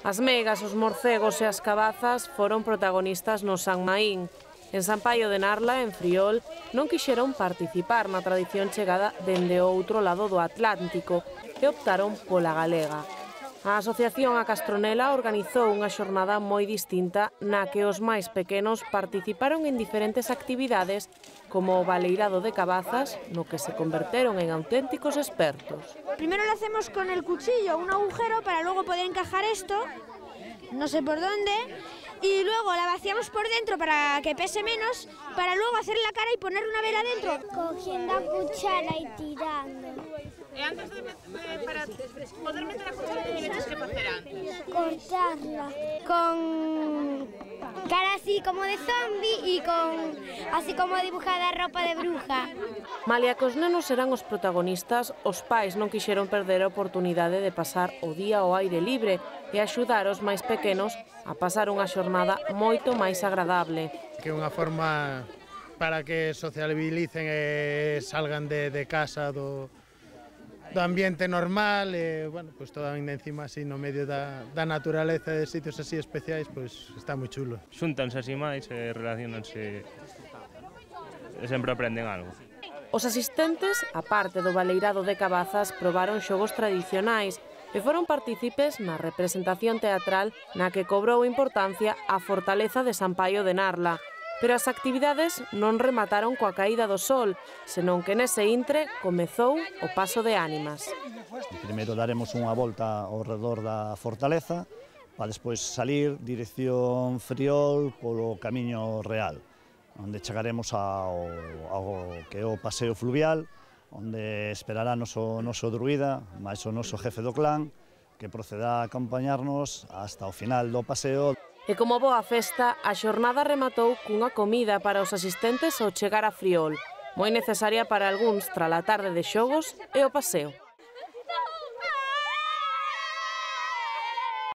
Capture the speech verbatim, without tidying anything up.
As meigas, os morcegos e as cabazas foron protagonistas no San Maín. En San Paio de Narla, en Friol, non quixeron participar na tradición chegada dende o outro lado do Atlántico e optaron pola galega. A Asociación A Castronela organizou unha xornada moi distinta na que os máis pequenos participaron en diferentes actividades como o baleirado de cabazas, no que se converteron en auténticos expertos. Primero lo hacemos con el cuchillo, un agujero para luego poder encajar esto, no sé por dónde, y luego la vaciamos por dentro para que pese menos, para luego hacer la cara y poner una vela dentro. Cogiendo a cuchara y tirando. E antes de, de para poder meter a cuchara, que tienes que facer antes? Cortarla. Con cara así como de zombi y con así como dibujada ropa de bruja. Malia que os nenos eran os protagonistas, os pais non quixeron perder a oportunidade de pasar o día ao aire libre e axudar os máis pequenos a pasar unha xornada moito máis agradable. Que é unha forma para que sociabilicen e salgan de, de casa do, do ambiente normal e, bueno, pues todo ainda encima así no medio da, da naturaleza de sitios así especiais, pues está moi chulo. Xúntanse así máis e relacionanse e sempre aprenden algo. Os asistentes, a parte do baleirado de cabazas, probaron xogos tradicionais e foron partícipes na representación teatral na que cobrou importancia a fortaleza de San Paio de Narla. Pero as actividades non remataron coa caída do sol, senón que nese intre comezou o paso de ánimas. Primeiro daremos unha volta ao redor da fortaleza, para despois salir dirección Friol polo Camiño Real, onde chegaremos ao, ao que é o paseo fluvial, onde esperará noso, noso druida, máis o noso jefe do clan, que proceda a acompañarnos hasta o final do paseo. E como boa festa, a xornada rematou cunha comida para os asistentes ao chegar a Friol, moi necesaria para algúns tras a tarde de xogos e o paseo.